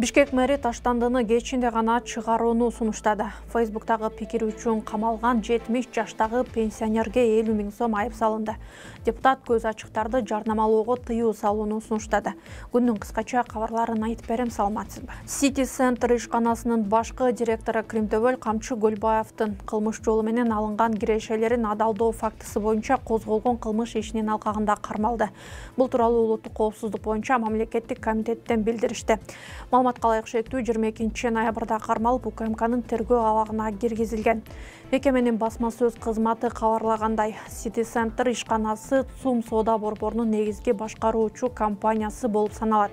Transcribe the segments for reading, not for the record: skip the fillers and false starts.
Бишкек мэри Таштандыны кечинде гана чыгарууну сунуштады. Фейсбуктагы пикири үчүн камалган 70 жаштагы пенсионерге 50 000 сом айып салынды. Депутат көз ачыктарды жарнамалоого тыюу салууну сунуштады. Күндүн кыскача кабарларын айтып берем, саламатсызбы. City Center ишканасынын башкы директору Кримтөбөл Камчы Көлбаевдин кылмыш жолу менен алынган кирешелерин адалдоо фактысы боюнча козголгон кылмыш ишинин алкагында кармалды. Бул тууралуу улуттук коопсуздук боюнча мамлекеттик комитеттен билдиришти. Маалыматка ылайык 22 ноябрда кармалып УКМКнын тергөө абагына киргизилген. Мекеменин басма сөз кызматы кабарлагандай, City Center ишканасы ЦУМ соода борборунун негизги башкаруучу компаниясы болуп саналат.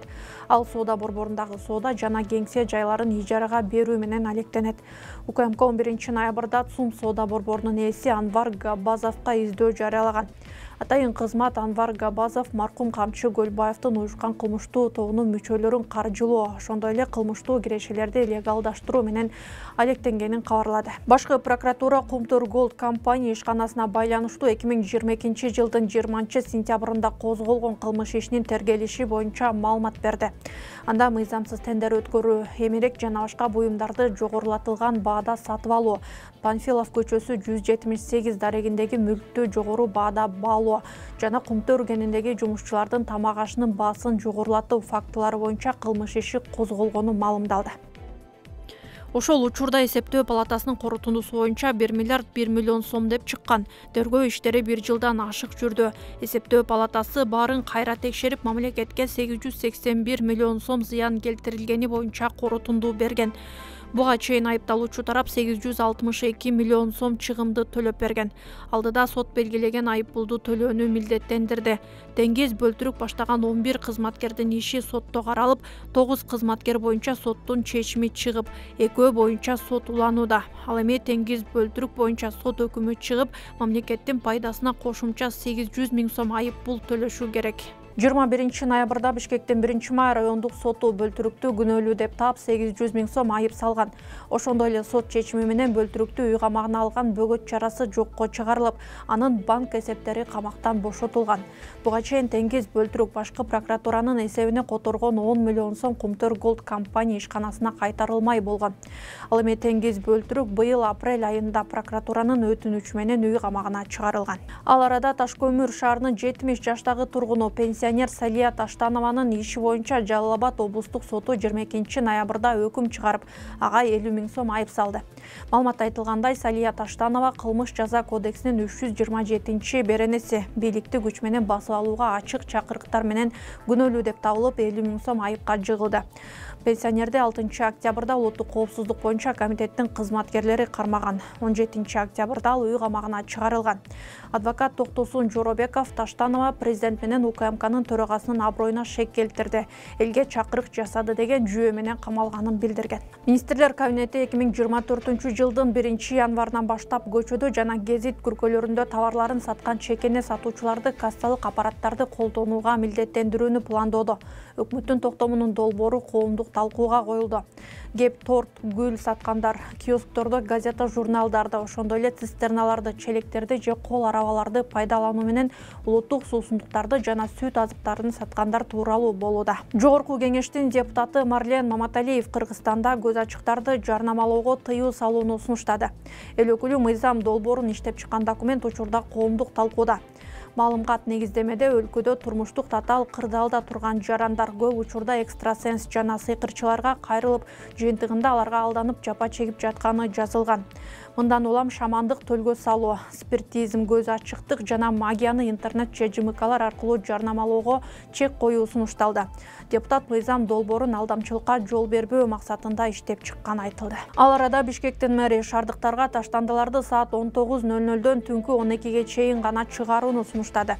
Ал соода борборундагы соода жана кеңсе жайларын ижарага берүү менен алектенет. УКМК 11 ноябрда ЦУМ соода борборунун ээси Анвар Габбазовго издөө жарыялаган. Атайын кызмат Анвар Габбазов маркум Камчы Көлбаевдин уюшкан кылмыштуу тобунун мүчөлөрүн каржылоо, ошондой эле кылмыштуу кирешелерди легалдаштыруу менен алектенгенин кабарлады. Башкы прокуратура Кумтур Голд компания ишканасына байланыштуу 2022 жылдын 20 сентябрында козголгон кылмыш ишинин тергелиши боюнча маалымат берди. Анда мыйзамсыз тендер өткөрүү, эмерек жана башка буюмдарды жогорулатылган баада сатып алуу, Панфилов көчөсү 178 дарегиндеги мүлктү жогору баада баалоо жана Кумтөр кенендеги жумушчулардын тамак ашынын баасын жогорулатуу фактылары боюнча кылмыш иши козголгону маалымдалды. Ошол учурда эсептөө палатасынын корутундусу боюнча 1 миллиард 1 миллион сом деп чыккан. Тергөө иштери 1 жылдан ашык жүрдү. Эсептөө палатасы баарын кайра текшерип, мамлекетке 881 миллион сом зыян келтирилгени боюнча корутунду берген. Буга чейин айыпталуучу тарап 862 миллион сом чыгымды төлөп берген. Алдыда сот белгилеген айыппулду төлөөнү милдеттендирди. Деңгез бөлтүрүк баштаган 11 кызматкердин иши сотто каралып, 9 кызматкер боюнча соттун чечими чыгып, 2 боюнча сот уланууда. Ал эми Деңгез бөлтүрүк боюнча сот өкүмү чыгып, мамлекеттин пайдасына кошумча 800 000 сом айыппул төлөшү керек. 21 ноябрда Бишкектин 1 май райондук соту бөлтүрүктү күнөөлүү деп таап 800 000 сом айып салган. Ошондой эле сот чечими менен бөлтүрүктү үй камагына алган бөгөт чарасы жокко чыгарылып, анын банк эсептери камактан бошотулган. Буга чейин Деңгез бөлтүрүк башкы прокуратуранын эсебине которгон 10 миллион сом Кумтөр Голд компания ишканасына кайтарылмай болгон. Ал эми Деңгез бөлтүрүк быйыл апрель айында прокуратуранын өтүнүчү менен үй камагына чыгарылган. Ал арада Ташкөмүр шаарынын 70 жаштагы тургуну пенсионер Салия Таштанованын иши боюнча Жалал Абад облустук соту 22 ноябрда өкүм чыгарып, ага 50 000 сом айып салды. Маалыматта айтылгандай, Салия Таштанова кылмыш жаза кодексинин 327 беренеси бийликти күч менен басып алууга ачык чакырыктар менен күнөөлүү деп табылып, 50 000 сом айыпка жыгылды. Пенсионерди 6 октябрда улуттук коопсуздук боюнча комитеттин кызматкерлери кармаган. 17 октябрда ал үй камагына чыгарылган. Адвокат Токтосун Жоробеков Таштанова президент менен УКМКнын төрагасынын аброюна шек келтирди, элге чакырык жасады деген жүйө менен камалганын билдирген. Министрлер кабинети 2024 жылдын 1 январынан баштап көчөдө жана гезит күркөлөрүндө товарларын саткан чекене сатуучуларды кассалык аппараттарды колдонууга милдеттендирүүнү пландоодо. Өкмөттүн токтомунун долбоору коомдук талкууга коюлду. Кеп, торт, гүл саткандар, киосктордо газета, журналдарды, ошондой эле цистерналарды, челектерди же кол арабаларды пайдалануу менен улуттук суусундуктарды жана сүт азыктарын саткандар тууралуу болууда. Жогорку кеңештин депутаты Марлен Маматалиев Кыргызстанда көз ачыктарды жарнамалоого тыюу салууну сунуштады. Эл өкүлү мыйзам долбоорун иштеп чыккан документ учурда коомдук талкууда. Маалымгат негиздемеде өлкөдө турмуштук татаал кырдаалда турган жарандар көп учурда экстрасенс жана сыйкырчыларга кайрылып, жыйынтыгында аларга алданып жапа чегип жатканы жазылган. Мындан улам шамандык төлгө салуу, спиритизм, көз ачыктык жана магияны интернет же ЖМКлар аркылуу жарнамалоого чек коюу сунушталды. Депутат мыйзам долбоорун алдамчылыкка жол бербөө максатында иштеп чыкканы айтылды. Ал арада Бишкектин мэри шаардыктарга таштандыларды саат 19:00дөн түнкү 12ге чейин гана чыгарууну сунуштады.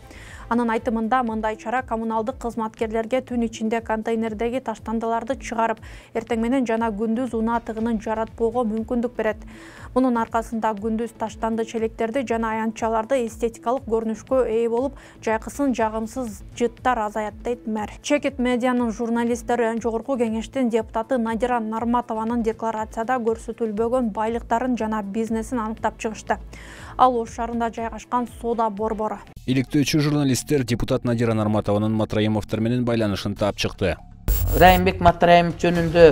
Анын айтымында мындай чара коммуналдык кызматкерлерге түн ичинде контейнердеги таштандыларды чыгарып, эртең менен жана күндүз унаа тыгынын жаратпоого мүмкүндүк берет. Мунун аркасында күндүз таштанды челектерди жана аянтчаларды эстетикалык көрүнүшкө ээ болуп, жайкысын жагымсыз жыттар азаят дейт мэр. Чекит медианын журналисттери жогорку кеңештин депутаты Надира Нарматованын декларацияда көрсөтүлбөгөн байлыктарын жана бизнесин аныктап чыгышты. Ал Ош шаарында жайгашкан соода борбору. Иликтөөчү журналисттер депутат Надира Нарматованын Матраимовдор менен байланышын таап чыкты. Райымбек Матраимов жөнүндө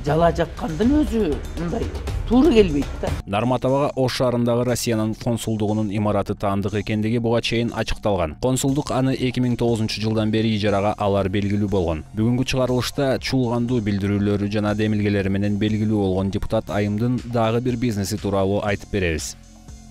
жала жаккандын өзү мындай туура келбейт да. Нарматовага Ош шаарындагы Россиянын консулдугунун имараты таандык экендиги буга чейин ачыкталган. Консулдук аны 2009-жылдан бери ижарага алар белгилүү болгон. Бүгүнкү чыгарылышта чуулгандуу билдирүүлөрү жана демилгелери менен белгилүү болгон депутат Айымдын дагы бир бизнеси тууралуу айтып беребиз.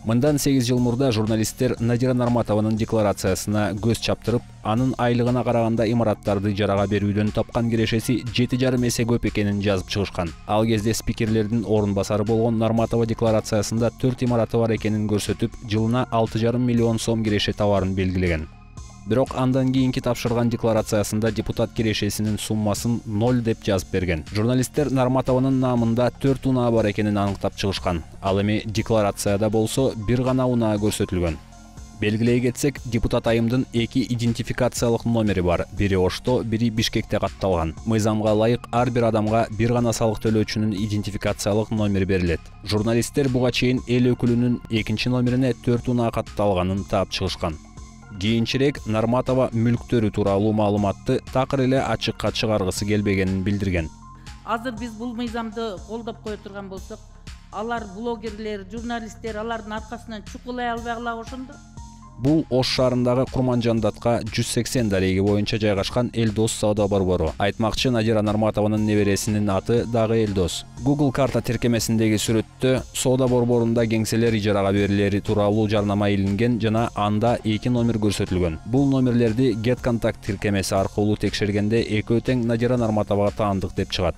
Мындан 8 жыл мурда журналисттер Надира Нарматованын декларациясына көз чаптырып, анын айлыгына караганда имараттарды ижарага берүүдөн тапкан кирешеси 7,5 эсе көп экенин жазып чыгышкан. Ал кезде спикерлердин орун басары болгон Нарматова декларациясында 4 имараты бар экенин көрсөтүп, жылына 6,5 миллион сом киреше табарын белгилеген. Бирок андан кийинки тапшырган декларациясында депутат кирешесинин суммасын 0 деп жазып берген. Журналисттер Нарматованын наамында 4 унаа бар экенин аныктап чыгышкан. Ал эми декларацияда болсо бир гана унаа көрсөтүлгөн. Белгилей кетсек, депутат Айымдын 2 идентификациялык номери бар. Бири Ошто, бири Бишкекте катталган. Мыйзамга ылайык ар бир адамга бир гана салык төлөөчүнүн идентификациялык номери берилет. Журналисттер буга чейин эл өкүлүнүн 2 номерине 4 унаа катталганын таап чыгышкан. Кийинчерээк Нарматова мүлктөрү тууралуу маалыматты такыр эле ачыкка чыгаргысы келбегенин билдирген. Азыр биз бул мыйзамды колдоп кое турган болсок, алар блогерлер, журналисттер алардын аркасынан чукулай албагыла ошондо. Бул Ош шаарындагы Курманжандатка 180 дареги боюнча жайгашкан Элдос соода борбору. Айтмакчы, Надира Нарматованын небересинин аты дагы Элдос. Google карта тиркемесиндеги сүрөттө соода борборунда кеңселер ижарага берилери тууралуу жарнама илинген жана анда 2 номер көрсөтүлгөн. Бул номерлерди GetContact тиркемеси аркылуу текшергенде экөө тең Надира Нарматовага таандык деп чыгат.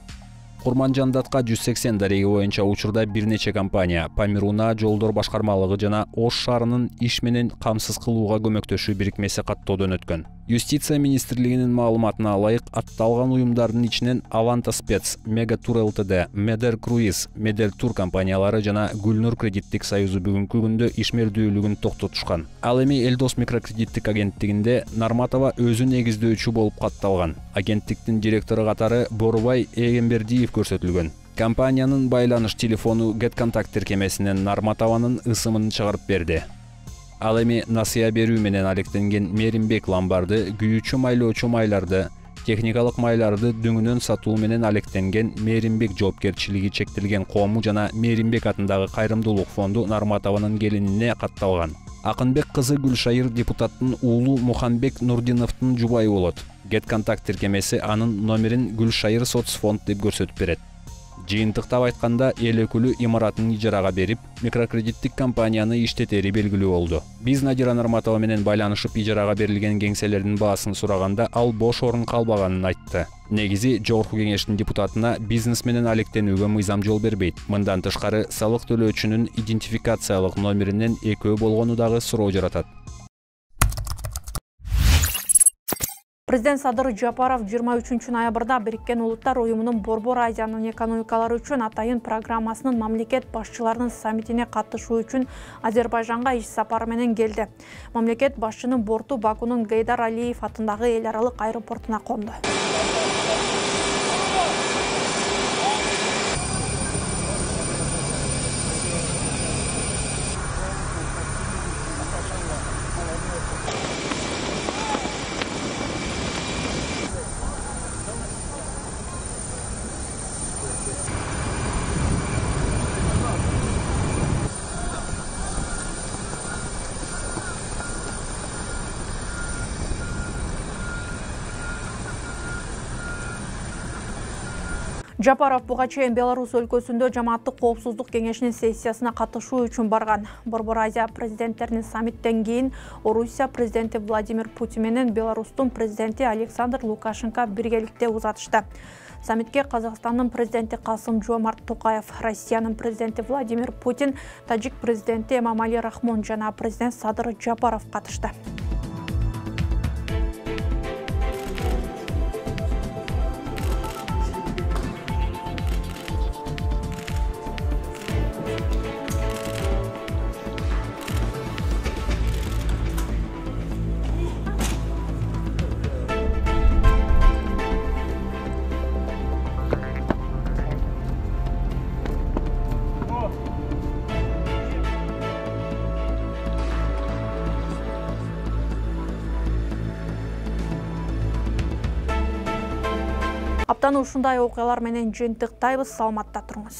Курманжандатка 180 дареги боюнча учурда бир нече компания, Памируна жолдор башкармалыгы жана Ош шаарынын иш менен камсыз кылууга көмөктөшүү бирикмеси каттоодон өткөн. Юстиция министрлигинин маалыматына ылайык, атталган уюмдардын ичинен Аванта Спец, Мега Тур ЛТД, Медер Круиз, Медер Тур компаниялары жана Гүлнур кредиттик союзу бүгүнкү күндө ишмердүүлүгүн токтотушкан. Ал эми Элдос микрокредиттик агенттигинде Нарматова өзү негиздөөчү болуп катталган. Агенттиктин директору катары Борубай Эгембердиев көрсөтүлгөн. Компаниянын байланыш телефону GetContact тиркемесинен Нарматованын ысымын чыгарып берди. Ал эми насыя берүү менен алектенген Меримбек ламбарды, күйүүчү майлоочу майларды, техникалык майларды дөңүнөн сатуу менен алектенген Меримбек жоопкерчилиги чектелген коому жана Меримбек атындагы кайрымдуулук фонду Нарматованын келинине катталган. Акынбек кызы Гүлшайыр депутаттын уулу Мухамбек Нурдиновдун жубайы болот. GetContact тиркемеси анын номерин Гүлшайыр соцфонд деп көрсөтүп берет. Жыйынтыктап айтканда, эл өкүлү имаратын ижарага берип, микрокредиттик компанияны иштетери белгилүү болду. Биз Надира Нарматова менен байланышып ижарага берилген кеңселердин баасын сураганда, ал бош орун калбаганын айтты. Негизи, жогорку кеңештин депутатына бизнес менен алектенүүгө мыйзам жол бербейт. Мындан тышкары, салык төлөөчүнүн идентификациялык номеринен экөө болгону дагы суроо жаратат. Президент Садыр Жапаров 23 ноябрда Бириккен Улуттар уюмунун Борбор Азиянын экономикалары үчүн атайын программасынын мамлекет башчыларынын саммитине катышуу үчүн Азербайжанга иш сапары менен келди. Мамлекет башчынын борту Бакунун Гейдар Алиев атындагы эл аралык аэропортуна конду. Жапаров буга чейин Беларусь өлкөсүндө жамааттык коопсуздук кеңешинин сессиясына катышуу үчүн барган. Борбор Азия президенттеринин саммиттен кийин Орусия президенти Владимир Путин менен Беларустун президенти Александр Лукашенко биргеликте узатышты. Саммитке Казакстандын президенти Касым-Жомарт Токаев, Россиянын президенти Владимир Путин, Тажик президенти Эмомали Рахмон жана президент Садыр Жапаров катышты. Аптаны ушундай окуялар менен жыйынтыктайбыз. Саламатта туруңуз.